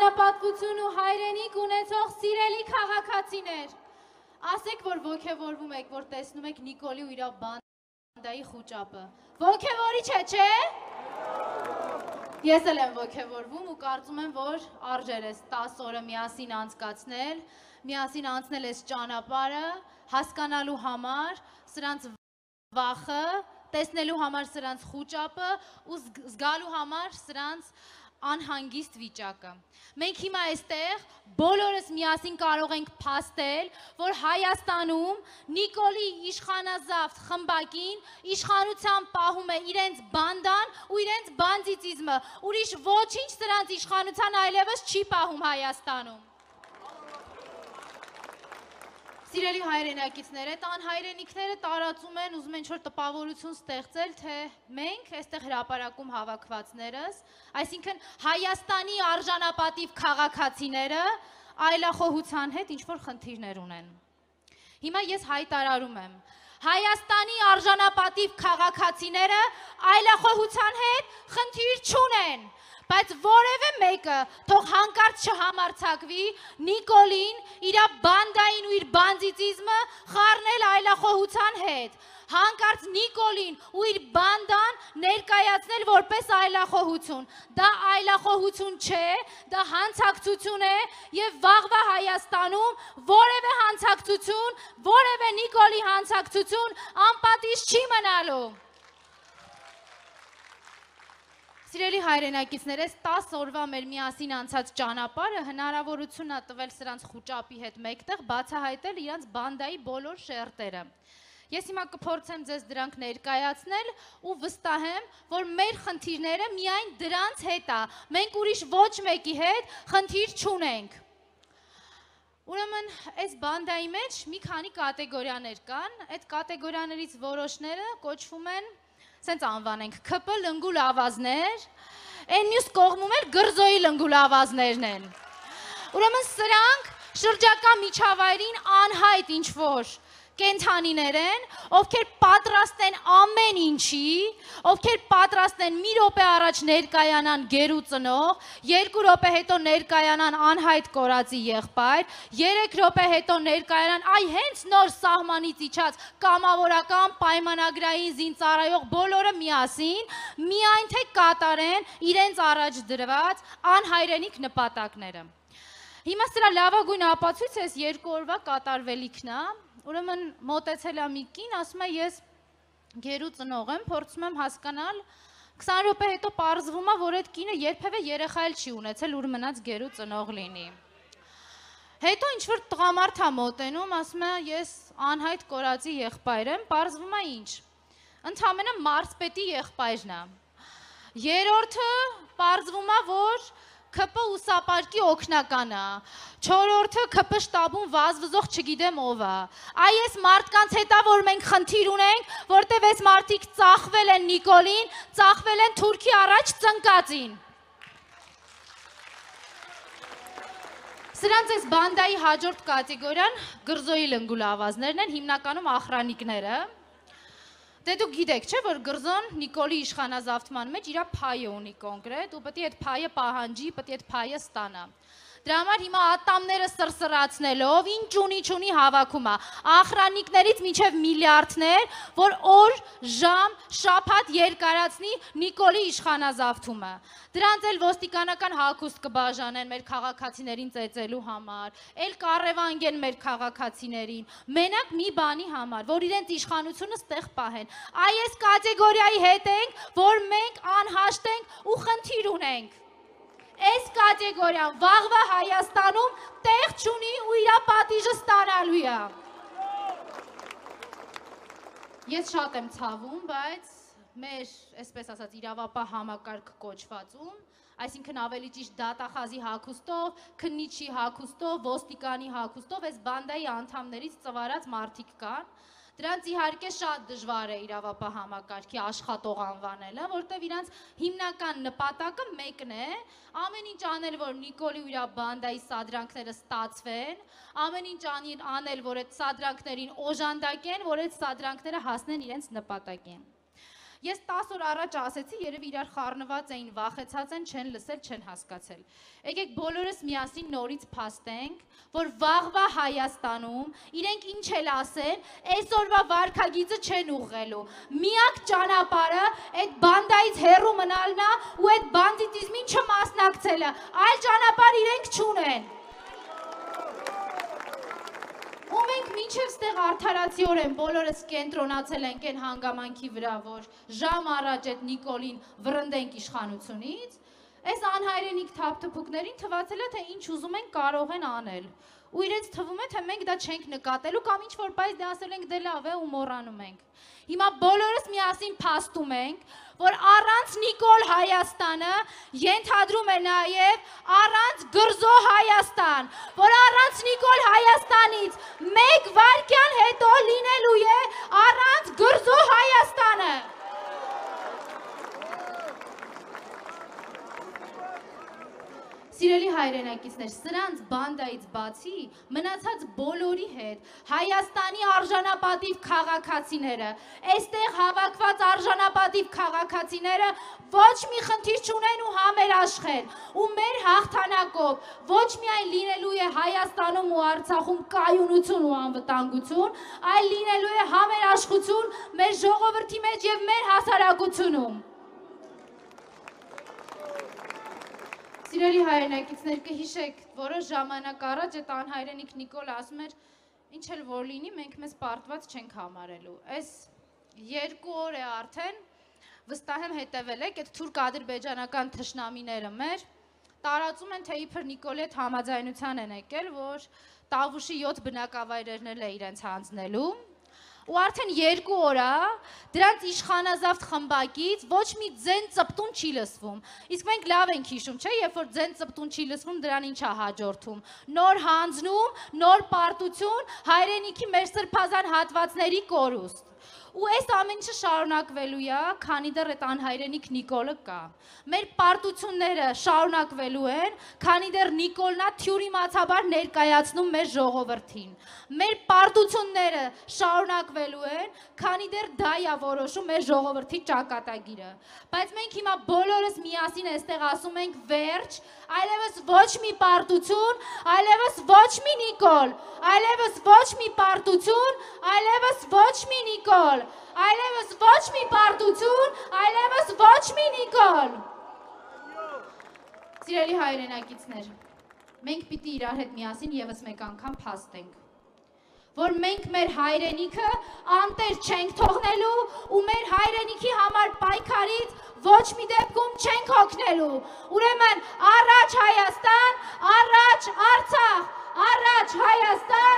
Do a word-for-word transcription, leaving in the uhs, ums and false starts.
արժանապատվություն ու հայրենիք ունեցող սիրելի քաղաքացիներ, ասեք, որ ոգևորվում եք, որ տեսնում եք Նիկոլի ու իր բանդայի խուճապը։ Ոգևորիչ է, չէ՞։ Ես էլ եմ ոգևորվում ու կարծում եմ, որ արժեր ես տասը օրը միասին անցկացնել, միասին անցնել ես ճանապարհը, հասկանալու համար, սրանց վախը, տեսնելու համար սրանց խուճապը ու զգալու համար սրանց անհանգիստ վիճակը։ Մենք հիմա այստեղ բոլորս միասին կարող ենք փաստել, որ Հայաստանում Նիկոլի իշխանազավթ խմբակին իշխանության պահում է իրենց բանդան ու իրենց բանդիտիզմը, ուրիշ ոչինչ սրանց իշխանության այլևս չի պահում Հայաստանում։ Սիրելի հայրենակիցներ, այդ անհայրենիքները տարածում են, ուզում են ինչ-որ տպավորություն ստեղծել, թե մենք այստեղ հրապարակում հավաքվածներս, այսինքն Հայաստանի արժանապատիվ քաղաքացիները այլախոհության հետ ինչ-որ խնդիրներ ունեն։ Հիմա ես հայտարարում եմ, Հայաստանի արժանապատիվ քաղաքացիները այլախոհության հետ խնդիր չունեն, բայց որևէ մեկը թող հանկարծ չհամարձակվի Նիկոլին, իր բանդային ու իր բանդիտիզմը խառնել այլախոհության հետ, հանկարծ Նիկոլին ու իր բանդան ներկայացնել որպես այլախոհություն։ Դա այլախոհություն չէ, դա հանցակցություն է եւ վաղվա Հայաստանում որևէ հանցակցություն, որևէ Նիկոլի հանցակցություն անպատիժ չի մնալու։ Սիրելի հայրենակիցներ, այս տասը օրվա մեր միասին անցած ճանապարհը հնարավորություն է տվել սրանց խուճապի հետ մեկտեղ բացահայտել իրանց բանդայի բոլոր շերտերը։ Ես հիմա կփորձեմ ձեզ դրանք ներկայացնել ու վստահ եմ, որ մեր խնդիրները միայն դրանց հետ է, մենք ուրիշ ոչ մեկի հետ խնդիր չունենք։ Ուրեմն, այս բանդայի մեջ մի քանի կատեգորիաներ կան, այդ կատեգորիաներից որոշները կոչվում են սենց անվանենք Ք Փ լնգուլ ավազներ, այն մյուս կողմում էլ գրզոյի լնգուլ ավազներն են։ Ուրեմն սրանք շրջակա միջավայրին անհայտ ինչ-որ կենդանիներ են, ովքեր պատրաստ են ամեն ինչի, ովքեր պատրաստ են մի րոպե առաջ ներկայանան գերու ծնող, երկու րոպե հետո ներկայանան անհայտ կորածի եղբայր, երեք րոպե հետո ներկայանան այ հենց նոր սահմանից իջած կամավորական պայմանագրային զինծառայող բոլորը միասին, միայն թե կատարեն իրենց առաջ դրված անհայրենիք նպատակները։ Հիմա սրա լավագույն ապացույցը այս երկու օրվա կատարվելիքն է։ Ուրեմն մոտեցել է մի կին, ասում է ես գերու ծնող եմ, փորձում եմ հասկանալ, քսան րոպե հետո պարզվում է, որ այդ կինը երբևէ երեխա էլ չի ունեցել, ուր մնաց գերու ծնող լինի։ Հետո ինչ-որ տղամարդ է մոտենում, ասում է ես անհայտ կորածի եղբայր եմ, պարզվում է ինչ։ Ընդամենը մարզպետի եղբայրն է։ Երրորդը պարզվում է, որ Ք Փ ուսապարկի օգնական է, չորրորդը Ք Փ շտաբում վազվզող չգիտեմ ով է։ Այ այս մարդկանց հետ է, որ մենք խնդիր ունենք, որտեվ այս մարդիկ ծախվել են Նիկոլին, ծախվել են Թուրքի առաջ ծնկածին։ Սրանց այս բանդայի հաջորդ կատեգորիան գրզոյի լնգուլ ավազներն են, հիմնականում ախրանիկները։ Դե դուք գիտեք, չէ, որ գրզոն Նիկոլի իշխանազավթման մեջ իր փայը ունի կոնկրետ ու պետք է այդ փայը պահանջի, պետք է այդ փայը ստանա։ Դրա համար հիմա ատամները սրսրացնելով, ինչ ունի չունի հավաքում է, ախրանիկներից մինչև միլիարդներ, որ օր, ժամ, շաբաթ երկարացնի Նիկոլի իշխանազավթումը։ Դրանց էլ ոստիկանական հագուստ կբաժանեն մեր քաղաքացիներին ծեծելու համար, էլ կառևանգեն մեր քաղաքացիներին, մենակ մի բանի համար, որ իրենց իշխանությունը ստեղ պահեն։ Այ այս կատեգորիայի հետ ենք, որ մենք անհաշտ ենք ու խնդիր ունենք։ Այս կատեգորիան վաղվա Հայաստանում տեղ չունի ու իր պատիժը ստանալու է։ Ես շատ եմ ցավում, բայց մեր, այսպես ասած, իրավապահ համակարգ կոչվածում, այսինքն ավելի ճիշտ դատախազի հագուստով, քննիչի հագուստով, ոստիկանի հագուստով այս բանդայի անդամներից ծվարած մարդիկ կան։ Դրանց իհարկե շատ դժվար է իրավապահ համակարգի աշխատող անվանելը, որտեղ իրանց հիմնական նպատակը մեկն է, ամեն ինչ անել, որ Նիկոլի ու իր բանդայի սադրանքները ստացվեն, ամեն ինչ անել, որ այդ սադրանքներին օժանդակեն, որ այդ սադրանքները հասնեն իրենց նպատակին։ Ես տասը օր առաջ ասեցի, երևի իրար խառնված էին, վախեցած են, չեն լսել, չեն հասկացել։ Եկեք բոլորս միասին նորից փաստենք, որ վաղվա Հայաստանում իրենք ինչ էլ ասեն, այսօրվա վարքագիծը չեն ուղղելու։ Միակ ճանապարհը այդ բանդայից հեռու մնալն է ու այդ բանդիտիզմին չմասնակցելը։ Այլ ճանապարհ իրենք չունեն։ Ու մենք մինչև ստեղ արդարացիորեն բոլորս կենտրոնացել ենք այն հանգամանքի վրա, որ ժամ առաջ այդ Նիկոլին վռնդենք իշխանությունից, այս անհայրենիք թափթփուկներին թվացել է, թե ինչ ուզում են կարող են անել։ Ու իրենց թվում է, թե մենք դա չենք նկատելու կամ ինչ-որ պայս դե ասել ենք դե լավ է ու մոռանում ենք։ Հիմա բոլորս միասին փաստում ենք, որ առանց Նիկոլ Հայաստանը ենթադրում է նաև առանց Գրզո Հայաստան, որ առանց Նիկոլ Հայաստանից մեկ վայրկյան հետո լինելու է առանց Գրզո Հայաստանը։ Սիրելի հայրենակիցներ, սրանց բանդայից բացի մնացած բոլորի հետ Հայաստանի արժանապատիվ քաղաքացիները, այստեղ հավաքված արժանապատիվ քաղաքացիները ոչ մի խնդիր չունեն ու համերաշխ են, ու մեր հաղթանակով ոչ միայն լինելու է Հայաստանում ու Արցախում կայունություն ու անվտանգություն, այլ լինելու է համերաշխություն մեր ժողովրդի մեջ եւ մեր հասարակությունում։ Սիրելի հայրենակիցներ, կհիշեք, որոշ ժամանակ առաջ այդ անհայրենիք Նիկոլը ասում էր, ինչ էլ որ լինի, մենք մեզ պարտված չենք համարելու։ Այս երկու օր է արդեն, վստահ եմ հետևել եք, այդ թուրք ադրբեջանական թշնամիները մեր տարածում են, թե իբր Նիկոլի հետ համաձայնության են եկել, որ Տավուշի յոթ բնակավայրերն էլ է իրենց հանձնելու։ Ու արդեն երկու օր է, դրանց իշխանազավթ խմբակից ոչ մի ձեն ծպտուն չի լսվում։ Իսկ մենք լավ ենք հիշում, չէ, երբ որ ձեն ծպտուն չի լսվում, դրան ինչ է հաջորդում։ Նոր հանձնում, նոր պարտություն, հայրենիքի մեր սրբազան հատվածների կորուստ։ Ու այս ամեն ինչը շարունակվելու է, քանի դեռ այդ անհայրենիք Նիկոլը կա։ Մեր պարտությունները շարունակվելու են, քանի դեռ Նիկոլն է թյուրիմացաբար ներկայացնում մեր ժողովրդին։ Մեր պարտությունները շարունակվելու են, քանի դեռ դա է որոշում մեր ժողովրդի ճակատագիրը։ Բայց մենք հիմա բոլորս միասին այստեղ ասում ենք վերջ, այլևս ոչ մի պարտություն, այլևս ոչ մի Նիկոլ, այլևս ոչ մի պարտություն, այլևս ոչ մի Նիկոլ, այլևս ոչ մի պարտություն, այլևս ոչ մի Նիկոլ։ Սիրելի հայրենակիցներ, մենք պիտի իրար հետ միասին եւս մեկ անգամ փաստենք, որ մենք մեր հայրենիքը անտեր չենք թողնելու ու մեր հայրենիքի համար պայքարից ոչ մի դեպքում չենք հոգնելու։ Ուրեմն առաջ Հայաստան, առաջ Արցախ, առաջ Հայաստան,